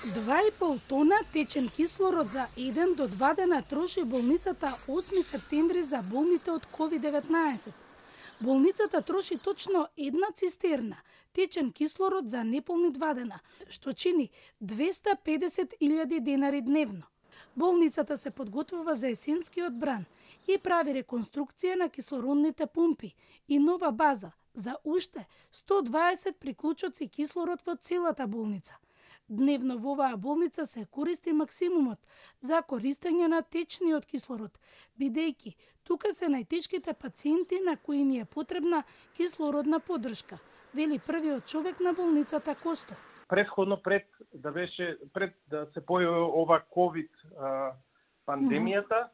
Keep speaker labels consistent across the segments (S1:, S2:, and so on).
S1: 2,5 тона течен кислород за 1 до 2 дена троши болницата 8 септември за болните од COVID-19. Болницата троши точно една цистерна течен кислород за неполни 2 дена, што чини 250.000 денари дневно. Болницата се подготвува за есенскиот бран и прави реконструкција на кислородните пумпи и нова база за уште 120 приклучоци кислород во целата болница. Дневно во оваа болница се користи максимумот за користење на течниот кислород, бидејќи тука се најтешките пациенти на кои им е потребна кислородна поддршка, вели првиот човек на болницата Костов.
S2: Предходно пред да се појави ова ковид пандемијата,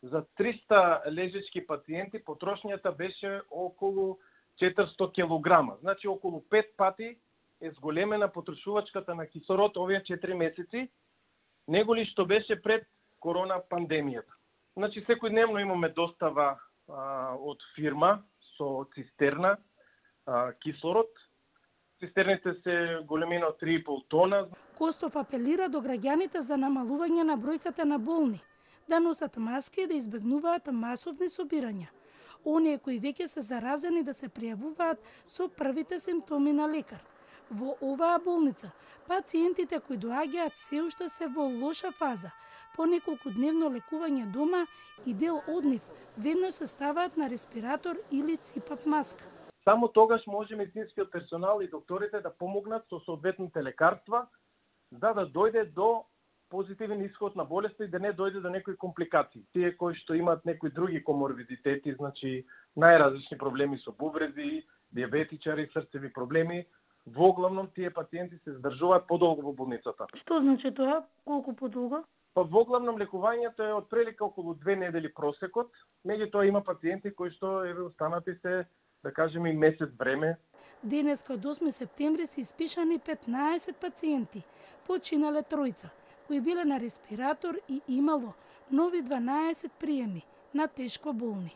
S2: за 300 лежечки пациенти потрошњата беше околу 400 килограма. Значи околу 5 пати е зголемена потрошувачката на кислород овие 4 месеци, неголи што беше пред корона пандемијата. Значи секојдневно имаме достава од фирма со цистерна кислород. Цистерните се големина од 3,5 тона.
S1: Костов апелира до граѓаните за намалување на бројката на болни, да носат маски и да избегнуваат масовни собирања. Оние кои веќе се заразени да се пријавуваат со првите симптоми на лекар. Во оваа болница, пациентите кои доаѓаат се уште се во лоша фаза, по неколку дневно лекување дома и дел од нив веднаш се ставаат на респиратор или ципат маска.
S2: Само тогаш може медицинскиот персонал и докторите да помогнат со соодветните лекарства, да дојде до позитивен исход на болеста и да не дојде до некои компликации. Тие кои што имаат некои други коморбидитети, значи најразлични проблеми со бубреди, диабетичари, срцеви проблеми, воглавном тие пациенти се здржуваат подолго во болницата.
S1: Што значи тоа? Колку подолго?
S2: Па воглавном лекувањето е од прилика околу 2 недели просекот. Меѓутоа има пациенти кои што останати се, да кажеме, и месец време.
S1: Денеска од 8 септември се испишани 15 пациенти, починале 3, кои биле на респиратор и имало нови 12 приеми на тешко болни.